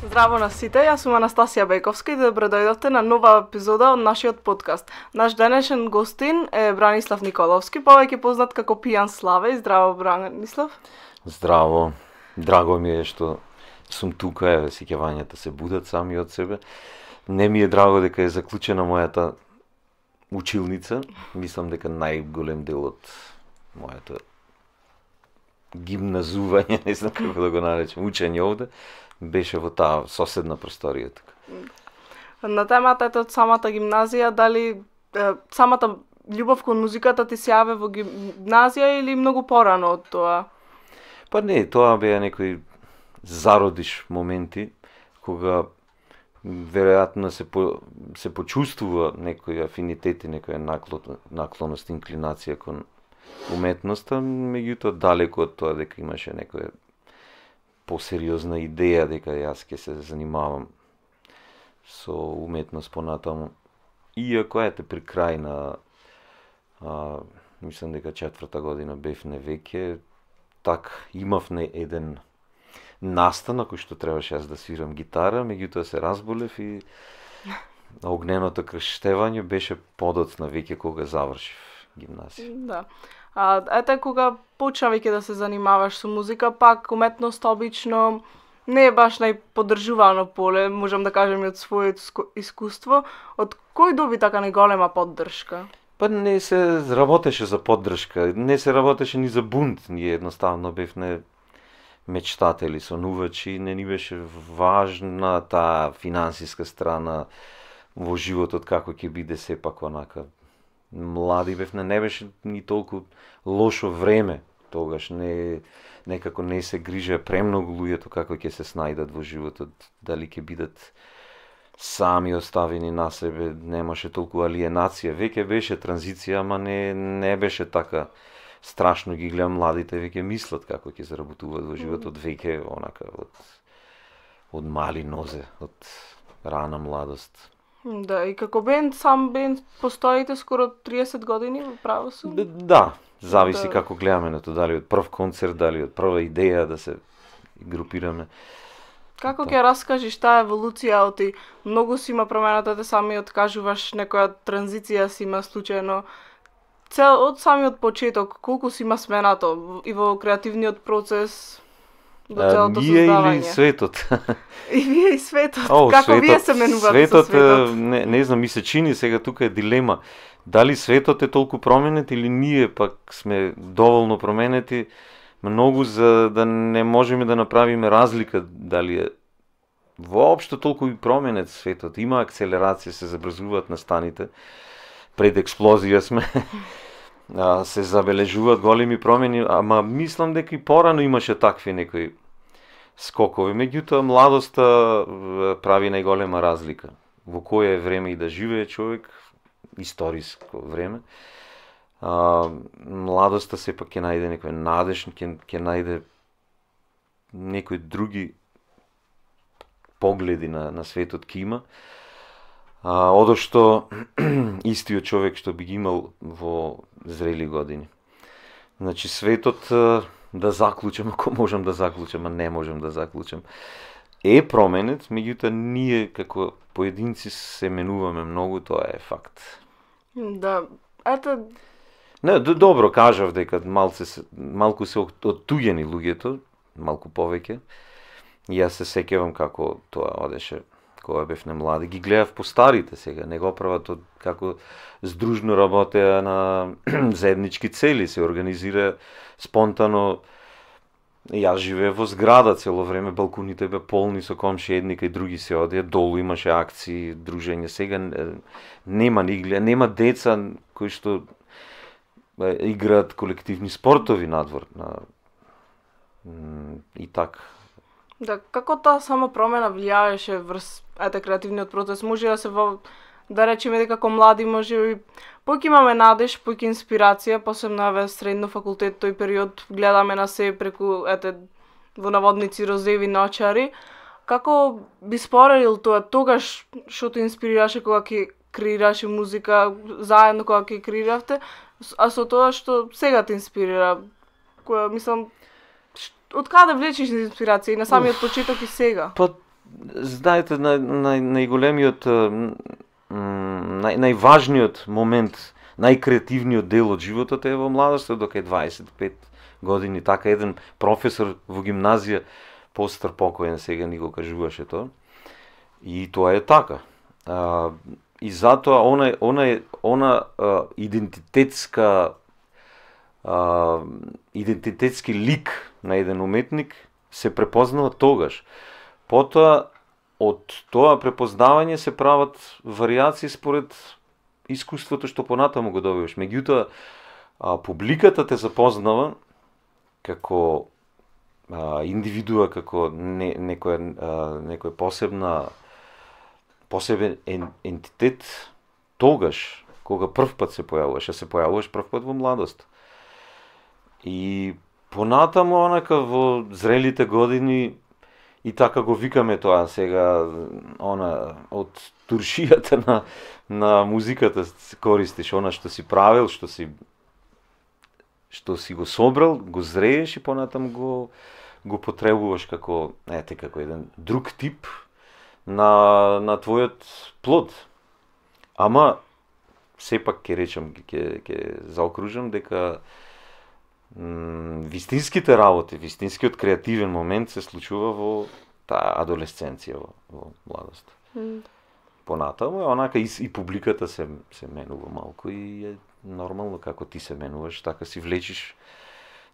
Здраво на сите, јас сум Анастасија Бековска и добро дојдовте на нова епизода од нашиот подкаст. Наш денешен гостин е Бранислав Николовски, повеќе познат како Пијан Славе. Здраво, Бранислав. Здраво. Драго ми е што сум тука, еве сеќавањата се будат сами од себе. Не ми е драго дека е заклучена мојата училница. Мислам дека најголем дел од моето гимназување, не знам како да го наречам, учење овде, беше во таа соседна просторија тука. На темата од самата гимназија, дали самата љубов кон музиката ти се јави во гимназија или многу порано од тоа? Па не, тоа беа некои зародиш моменти, кога веројатно се почувствува некој афинитет и некоја наклоност, инклинација кон уметноста, меѓутоа далеку од тоа дека имаше некоја посериозна идеја дека јас ќе се занимавам со уметност понатаму. Иако ете при крај на мислам дека 4-та година бевме веќе, имав не еден настан кој што требаше јас да свирам гитара, меѓутоа се разболев и огненото крштевање беше подоцна веќе кога завршив гимназија. Да. Ете кога почна веќе да се занимаваш со музика, пак уметност обично не е баш најподдржувано поле, можам да кажем и од своето искуство. Од кој доби така најголема поддршка? Па не се работеше за поддршка, не се работеше ни за бунт, ние едноставно бевме мечтатели, сонувачи, не ни беше важна таа финансиска страна во животот, како ќе биде сепак онака. Млади бевме, не беше ни толку лошо време тогаш, некако не се грижеа премногу луѓето како ќе се снајдат во животот, дали ќе бидат сами оставени на себе, немаше толку алиенација, веќе беше транзиција, ама не беше така страшно. Ги гледам младите, веќе мислат како ќе заработуваат во животот, веќе онака од мали нозе, од рана младост. Да, и како сам бенд постоите скоро 30 години, право сум? Да, зависи како гледаме на тоа, дали од прв концерт, дали од прва идеја да се групираме. Како ќе раскажеш таа еволуција, оти многу си има промената, те самиот кажуваш некоја транзиција си има случајно. Од самиот почеток, колку си има сменато и во креативниот процес до целото создавање? Ние или светот? И вие и светот. Како светот, вие се менувате со светот? Не знам, ми се чини сега тука е дилема. Дали светот е толку променет или ние пак сме доволно променети многу за да не можеме да направиме разлика дали е воопшто толку и променет светот. Има акселерација, се забрзуваат настаните. Пред експлозија сме. Се забележуваат големи промени, ама мислам дека и порано имаше такви некои скокови. Меѓутоа младоста прави најголема разлика. Во кое време и да живее човек, историско време. Младоста сепак ќе најде некој надеж, ќе најде некои други погледи на светот ки има. Одошто истиот човек што би ги имал во зрели години. Значи светот, да заклучам, ако можам да заклучам, а не можам да заклучам, е променет, меѓутоа ние како поединци се менуваме многу, тоа е факт. Да, ето... Не, добро кажав дека малку се оттуѓени луѓето, малку повеќе. Јас се сеќавам како тоа одеше кога бевме млади, ги гледав по старите сега, не го прават како здружно работеа на заеднички цели, се организира спонтано. Јас живеев во зграда цело време, балконите бе полни со комши, едни кај други се одеа, долу имаше акции, дружење. Сега нема деца кои што играат колективни спортови надвор. И така. Да, како таа само промена влијаеше врз креативниот процес? Може да речеме дека како млади може поќе имаме надеж, поќе инспирација, посебно средно факултет, тој период гледаме на се преку во наводници розеви ночари. Како би споредил тоа тогаш што те инспирираше кога ќе креираше музика, заедно кога ќе креиравте, а со тоа што сега те инспирира? Мислам, од каде влечеш инспирација и на самиот почеток и сега? Па знаете, најголемиот, најважниот момент, најкреативниот дел од животот е во младоста, докај 25 години. Така еден професор во гимназија, постар покоен, сега ни го кажуваше тоа. И тоа е така. И затоа она идентитетски лик на еден уметник се препознава тогаш. Потоа од тоа препознавање се прават варијации според искуството што понатаму го добиваш. Меѓутоа, публиката те запознава како индивидуа, како некоја посебен ентитет тогаш, кога прв пат се појавуваш прв пат во младост. И понатаму, онака во зрелите години, и така го викаме тоа сега, од туршијата на музиката користиш, она што си правил, што си го собрал, го зрееш и понатаму го потребуваш како еден друг тип на твојот плод. Ама сепак ќе речам, ќе заокружам дека вистинските работи, вистинскиот креативен момент се случува во таа адолесценција, во младост. Понатаму онака и публиката се менува малку и е нормално како ти се менуваш, така си влечиш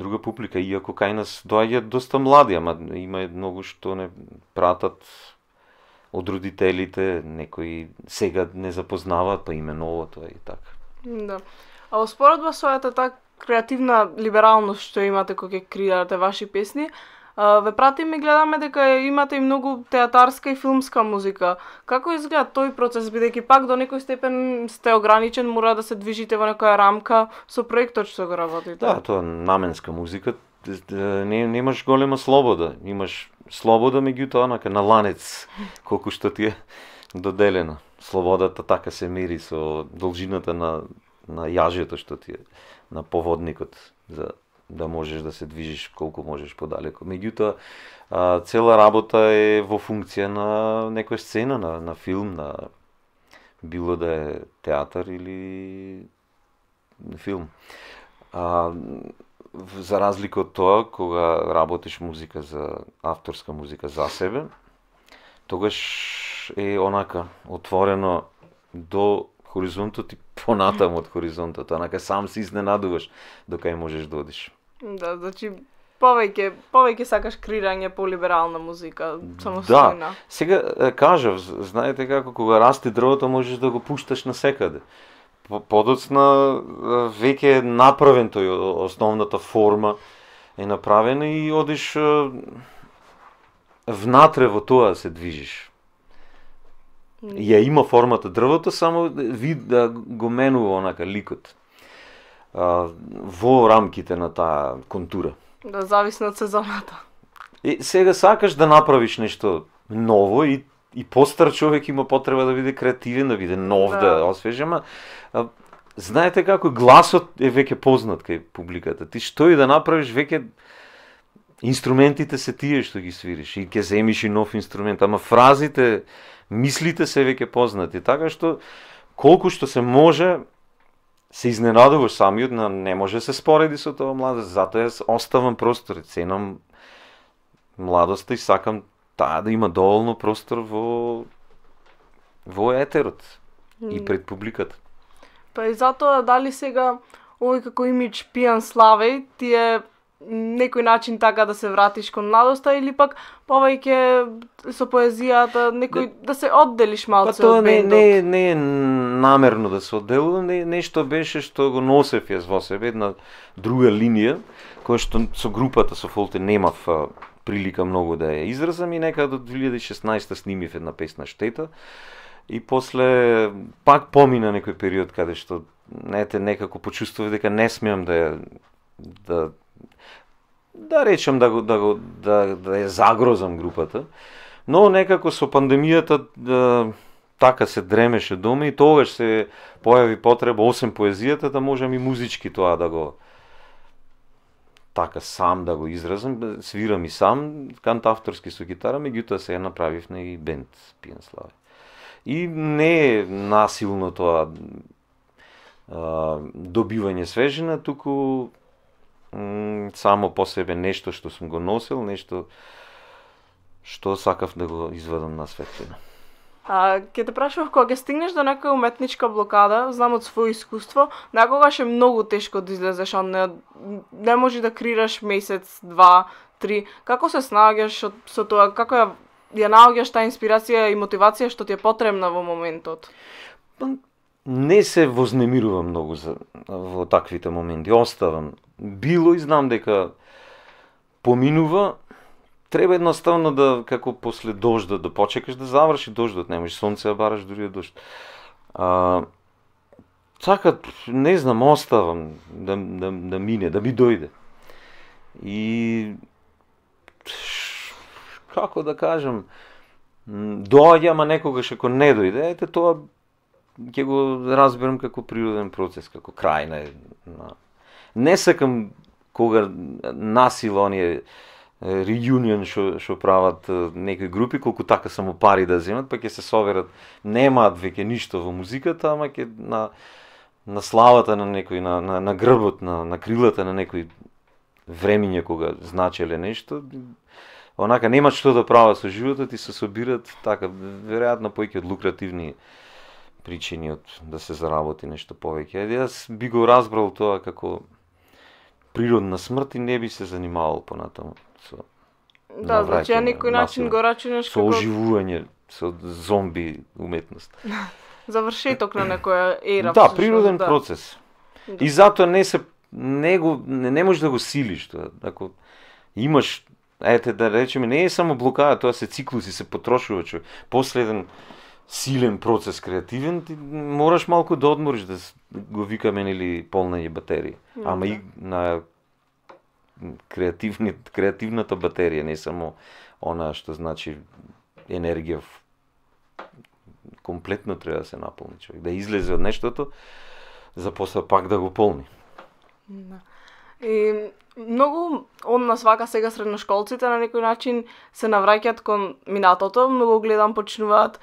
друга публика, иако кај нас доаѓаат доста млади, ама има многу што не пратат од родителите, некои сега не запознаваат, па именува тоа и така. Да. А успоредба со таа креативна либералност што имате кога ќе креирате ваши песни, ве пратиме и гледаме дека имате и многу театарска и филмска музика. Како изгледа тој процес, бидејќи пак до некој степен сте ограничен, мора да се движите во некоја рамка со проектот што го работите? Да, тоа наменска музика, немаш голема слобода. Имаш слобода, меѓутоа онака на ланец, колку што ти е доделена. Слободата така се мери со должината на јажето што ти е на поводникот, за да можеш да се движиш колку можеш подалеку. Меѓутоа, цела работа е во функција на некоја сцена, на филм, било да е театар или филм. За разлика од тоа, кога работиш музика авторска музика за себе, тогаш е онака отворено до хоризонтот и понатаму од хоризонтот, онака сам се изненадуваш докај можеш да одиш. Да, значи повеќе сакаш креирање по либерална музика, самостојна. Да, сега кажав, знаете како кога расте дрвото можеш да го пушташ насекаде. Подоцна веќе е направен тој, основната форма е направена и одиш внатре во тоа се движиш. Ја има формата дрвото, само да го менува онака ликот во рамките на таа контура. Да, зависно од сезоната. Сега сакаш да направиш нешто ново и постар човек има потреба да биде креативен, да биде нов, да освежи, ама знаете како гласот е веќе познат кај публиката. Ти што и да направиш, веќе инструментите се тие што ги свириш и ќе земиш и нов инструмент, ама фразите, мислите се веќе познати, така што колку што се може се изненадуваш самиот, не може се спореди со тоа младост, затоа јас оставам простор, ценам младоста и сакам таа да има доволно простор во етерот и пред публиката. Па и затоа дали сега овој како имидж пијан славеј ти е некој начин така да се вратиш кон младоста или пак повеќе со поезијата, некој да се одделиш малце од бендот? Тоа не е намерно да се одделувам, нешто беше што го носев јас во себе, една друга линија, која што со групата со Фолте немав прилика многу да ја изразам и некаде до 2016 снимив една песна Штета и после пак помина некој период каде што некако почувствував дека не смеам да речем да ја загрозам групата, но некако со пандемијата така се дремеше дома и тогаш се појави потреба освен поезијата да можам и музички тоа да го така сам да го изразам, свирам и сам, кантавторски со гитара, меѓутоа сега направивме и бенд Пијан Славе. И не е насилно тоа добивање свежина, туку само по себе нешто што сум го носил, нешто што сакав да го изведам на светлина. Ќе те прашував, кога ќе стигнеш до некоја уметничка блокада, знам од своје искуство, некогаш е многу тешко да излезеш од неа, не можеш да крираш месец, 2, 3. Како се снаоѓаш со тоа? Како ја наоѓаш таа инспирација и мотивација што ти е потребна во моментот? Не се вознемирувам многу во таквите моменти, оставам. Било и знам дека поминува, треба едноставно да, како после дождот, да почекаш да заврши дождот, немаш сонце да бараш дури од дожд. Така, не знам, оставам да мине, да ми дојде. И како да кажам, доаѓа, ама некогаш ако не дојде, ете тоа ќе го разберам како природен процес, како крај на... Не сакам кога насила оние реюнион што прават некои групи, колку така само пари да земат, па ќе се соберат, немаат веќе ништо во музиката, ама ќе на славата на некој, на грбот, на крилата на некој времиња кога значеле нешто, онака немаат што да прават со животот и се собират така, веројатно повеќе од лукративни причини од да се заработи нешто повеќе. Јас би го разбрал тоа како природна смрт и не би се занимавал понатаму со значи на некој начин го рачунаш со оживување, со зомби уметност. Завршеток на некоја ера. Да, природен процес. И затоа не можеш да го силиш тоа. Ако имаш, ете да речеме, не е само блокада, тоа се циклуси, се потрошува човек. После еден силен процес креативен, ти мораш малку да одмориш, да го викаме нели полнање батерија. Ама и на креативната батерија, не само она што значи енергија. Комплетно треба да се наполни човек, да излезе од нештото, за после пак да го полни. И многу од нас вака сега средношколците на некој начин се навраќаат кон минатото, многу гледам почнуваат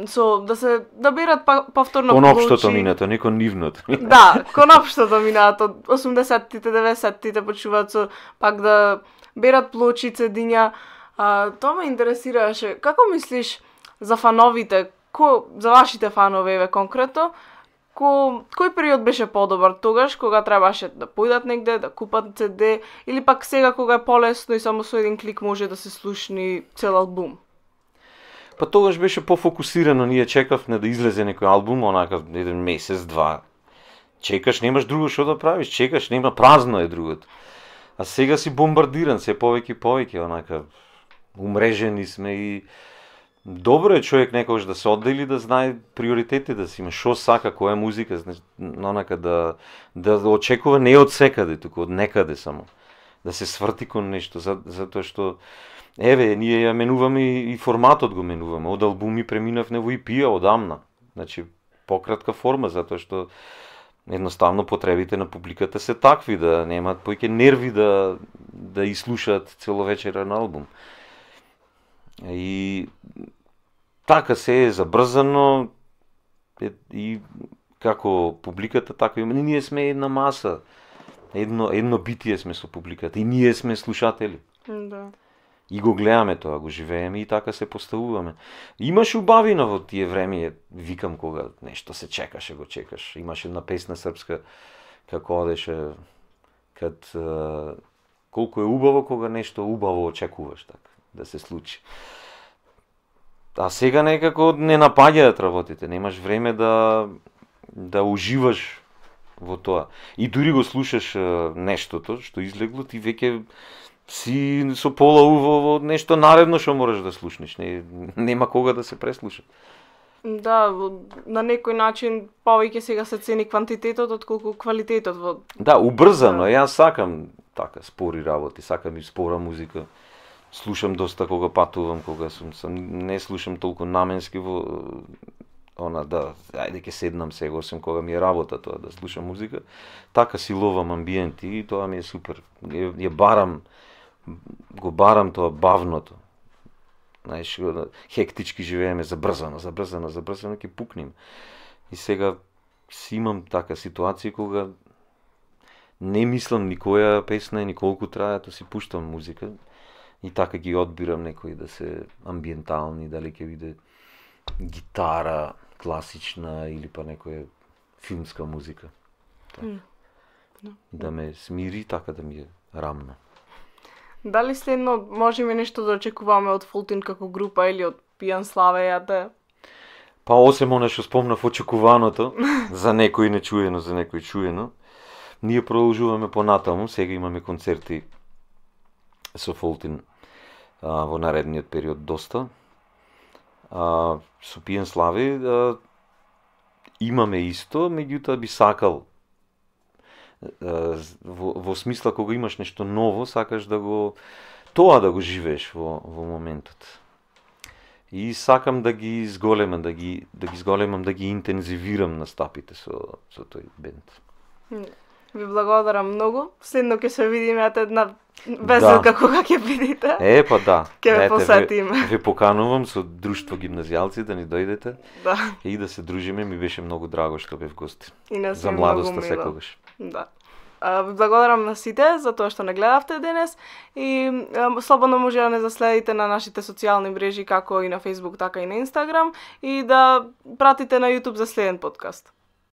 со да берат повторно кон општото минато, не кон нивното. Да, кон општото минато, 80-тите, 90-тите почнуваат со пак да берат плочи, цедиња. Тоа ме интересираше. Како мислиш за фановите, за вашите фанови еве конкретно, кој период беше подобар? Тогаш кога требаше да појдат негде, да купат CD, или пак сега кога е полесно и само со еден клик може да се слушни цел албум? Па тогаш беше пофокусирано, ние чекавме да излезе некој албум, онака еден месец, 2. Чекаш, немаш друго што да правиш, чекаш, нема, празно е другото. А сега си бомбардиран, се повеќе и повеќе, онака умрежени сме и добро е човек некогаш да се оддели, да знае приоритети, да си има шо сака, која музика, онака да очекува не од секаде, туку од некаде само. Да се сврти кон нешто, затоа што еве, ние ја менуваме и форматот го менуваме. Од албуми преминавме во EP-а одамна. Значи, пократка форма, затоа што едноставно потребите на публиката се такви, да немаат поќе нерви да изслушаат целовечерен албум. И така се е забрзано и како публиката, така и ние сме една маса. Едно битие сме со публиката и ние сме слушатели. Да. И го гледаме тоа, го живееме и така се поставуваме. Имаше убавина во тие време, викам кога нешто се чекаше, го чекаш. Имаше една песна српска како одеше колку е убаво кога нешто убаво очекуваш така да се случи. А сега некако не напаѓаат работите, немаш време да уживаш во тоа. И дури го слушаш нештото што излегло, ти веќе си со пола во нешто наредно што мораш да слушнеш, нема кога да се преслуша. Да, на некој начин повеќе сега се цени квантитетот отколку квалитетот во... Да, убрзано, јас сакам така спори работи, сакам и спора музика. Слушам доста кога патувам, кога не слушам толку наменски ајде ќе седнам сега, освен кога ми е работа тоа, да слушам музика, така си ловам амбиент и тоа ми е супер. Го барам тоа бавното. Знаеш, хектички живееме, забрзано, ќе пукнем. И сега си имам така ситуација кога не мислам ни која песна ни колку трае, то си пуштам музика и така ги одбирам некои да се амбиентални, дали ќе биде гитара класична или па некоја филмска музика. Да ме смири, така да ми е рамно. Дали следно можеме нешто да очекуваме од Фултин како група или од Пијан Славе јате? Па осем она што спомнав очекуваното, за некој нечуено, за некој чуено, ние продолжуваме понатаму, сега имаме концерти со Фултин во наредниот период доста. Со Пијан Славе имаме исто, меѓутоа би сакал во смисла кога имаш нешто ново, сакаш да го живееш во моментот. И сакам да ги изголемам, да ги интензивирам настапите со тој бенд. Ви благодарам многу. Следно ќе се видиме една веселка кога ќе видите. Па да. Ќе ве посетиме. Ве поканувам со друштво гимназијалци да ни дојдете. Да. И да се дружиме, ми беше многу драго што бев гости. За младоста секогаш. Да. Ви благодарам на сите за тоа што не гледавте денес и слободно може да не заследите на нашите социјални мрежи како и на Facebook, така и на Instagram и да пратите на YouTube за следен подкаст.